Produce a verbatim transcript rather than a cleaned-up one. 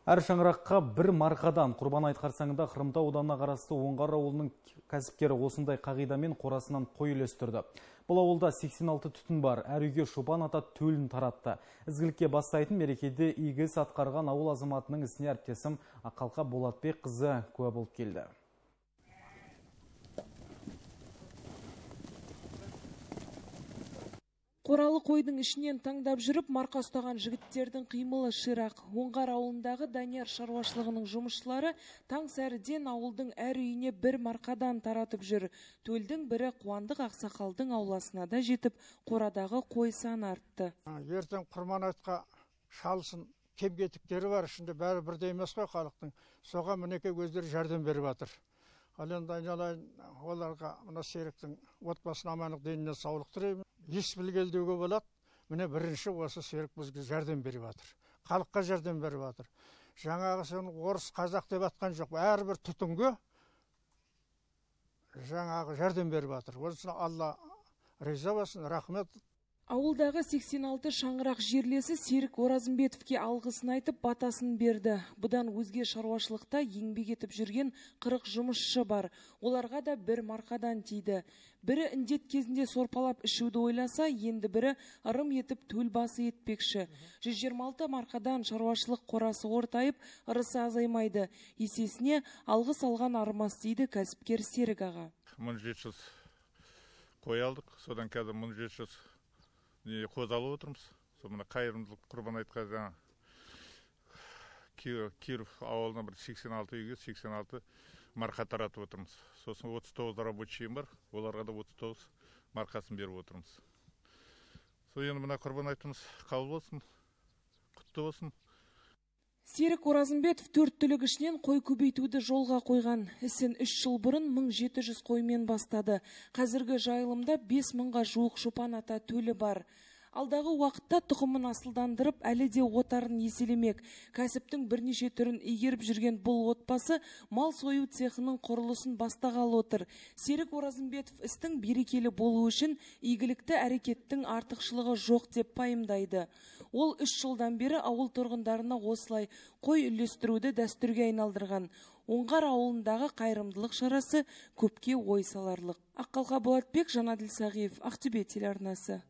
Әр шаңыраққа бір марқадан құрбан айт қарсаңында Қырымтау ауданына қарасты Оңғар ауылының кәсіпкері осындай қағидамен қорасынан қой үлестірді. Бұл ауылда сексен алты түтін бар, әр үйге Шопан ата төлін таратты. Ізгілікке бастайтын мерекеде игі іс атқарған ауыл азаматының ісіне әріптесім Ақалқа Болатбек қызы куә болып келді. Қоралы қойдың ішінен таңдап жүріп, марқа ұстаған жігіттердің қимылы ширақ. Оңғар ауылындағы Данияр шаруашылығының жұмысшылары таң сәріден ауылдың әр үйіне бір марқадан таратып жүр. Төлдің бірі Қуандық Ақсақалдың ауласына да жетіп, қорадағы қой саны артты. Ертең құрбан айтқа шалсын, кем-кетіктері бар, ішінде бәрі бірдей емес қой халықтың. Соған мінеке өздері жәрдем беріп жатыр. Ал енді айналайын оларға мына Серіктің отбасына амандық деніне саулық тілеймін. Ес білгелдеуге болады. Міне бірінші осы Серік бізге жәрдем беріп жатыр. Халыққа жәрдем беріп жатыр. Жаңағы сен орыс қазақ деп атқан жоқ. Әрбір түтінге жаңағы жәрдем беріп жатыр. Осына Алла риза болсын, рахмет. Ауылдағы сексен алты шаңырақ жерлесі Серік Оразымбетовке алғысын айтып батасын берді. Бұдан өзге шаруашылықта еңбек етіп жүрген қырық жұмысшы бар. Оларға да бір марқадан тиді. Бірі індет кезінде сорпалап ішуді ойласа, енді бірі ырым етіп төл басы етпекші. жүз жиырма алты марқадан шаруашылық қорасы ортайып, ырысы азаймайды. Есесіне алғыс алған армас дейді кәсіпкер Серік аға. мың жеті жүз қой алдық, содан қазір мың жеті жүз қоз алып отырмыз. Сол мына қайырымдылық құрбан айтқа жаңа Киров ауылына бір сексен алты үйге сексен алты марқа таратып отырмыз. Сосын отыз тоғыз рабочийім бар, оларға да отыз тоғыз марқасын беріп отырмыз. Сол енді мына құрбан айтымыз қабыл болсын, құтты болсын. Серік Оразымбетов төрт түлік ішінен қой көбейтуді жолға қойған. Ісін үш жыл бұрын мың жеті жүз қоймен бастады. Қазіргі жайылымда бес мыңға жуық Шопан ата төлі бар. Алдағы уақытта тұқымын асылдандырып, әлі де отарын еселемек. Кәсіптің бірнеше түрін игеріп жүрген бұл отбасы мал сою цехының құрылысын бастағалы отыр. Серік Оразымбетов істің берекелі болу үшін игілікті әрекеттің артықшылығы жоқ деп пайымдайды. Ол үш жылдан бері ауыл тұрғындарына осылай қой үлестіруді дәстүрге айналдырған. Оңғар ауылындағы қайырымдылық шарасы көпке ой саларлық. Ақалқа Болатбек, Жанаділ Сағиев, Ақтөбе телеарнасы.